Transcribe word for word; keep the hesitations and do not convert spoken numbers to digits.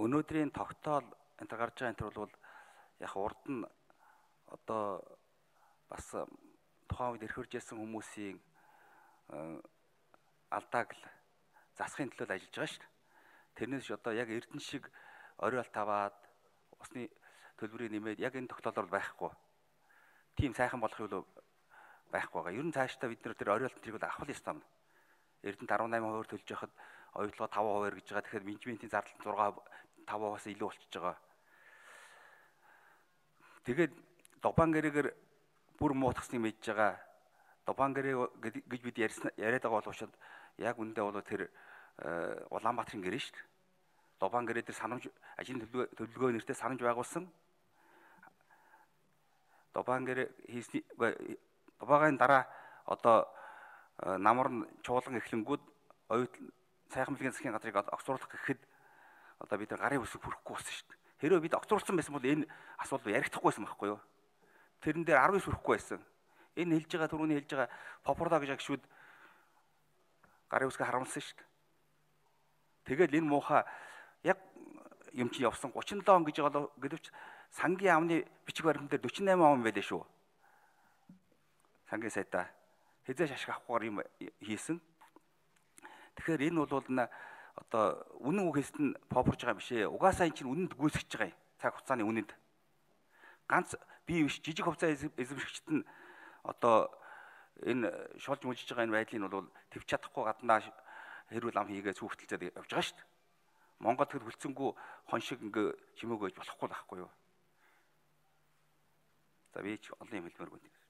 өнөөдрийн тогтоол энэ төр гарч байгаа энэ төр бол яг урд нь одоо бас тухайн үед эрхэрж ирсэн хүмүүсийн алдааг л засахын төлөө ажиллаж байгаа шүү дээ. Тэрнээс одоо яг Эрдэнэ шиг оройол таваад усны төлбөрийг нэмээд яг энэ тогтоолоор байхгүй. Тийм сайхан болохыг л байхгүй байгаа. Ер нь цаашдаа бид нэр тэр оройолт тэрийг л авах ёстой юм. Эрдэнэт арван найман хувиар төлж яхад оюутлага таван хувиар гэж байгаа. Тэгэхээр менежментийн зардал зургаан таван хувиас илүү болчихж байгаа. Тэгээд Дубан гэрээгээр бүр муутгасныг мэдж байгаа. Дубан гэрээ гэж бид яриад байгаа боловч яг үндэ бол тэр Улаанбаатарын гэрээ шүү дээ. Дубан гэрээ дээр санамж ажлын төлөвлөгөө нэртэй санамж байгуулсан. Дубан гэрээ хийсний Дубагийн дараа одоо намар нь чуулган эхлэнгүүд оюутан сайхан бэлгийн засгийн газрыг огцруулах гэхэд одоо бид гарын үсэг хүрэхгүй болсон шүү дээ. Хэрвээ бид огцруулсан байсан бол энэ асуудал ярихдахгүй байсан байхгүй юу? Тэрэн дээр арван иш хүрэхгүй байсан. Энэ хэлж байгаа түрүүний хэлж байгаа попорда гэж агшүүд гарын үсгээ харамлсан шүү дээ. Тэгэл энэ муухай яг юм чи явсан гучин долоо он гэж байгаа гэдвч сангийн амны бичиг баримт дээр дөрвөн найман он байлээ шүү. Сангийн сайдаа хязгаарч ашиг авахгүйгээр юм хийсэн. Тэгэхээр энэ бол н одоо үнэн үгээст нь попорж байгаа юм биш ээ. Угаасаа энэ чинь үнэнд гүйцэж байгаа юм. Цаг хугацааны үнэнд. Ганц бие биш жижиг хувцас эзэмшигчд нь одоо энэ шолж мүжиж байгаа энэ байдлыг бол твч чадахгүй гаднаа хэрүүл ам хийгээ цүгтэлцээд явж байгаа шүү дээ. Монгол тэр хүлцэнгүй хон шиг ингээ чимээгөөж болохгүй байхгүй юу? За би ч олон юм хэлмээр байна.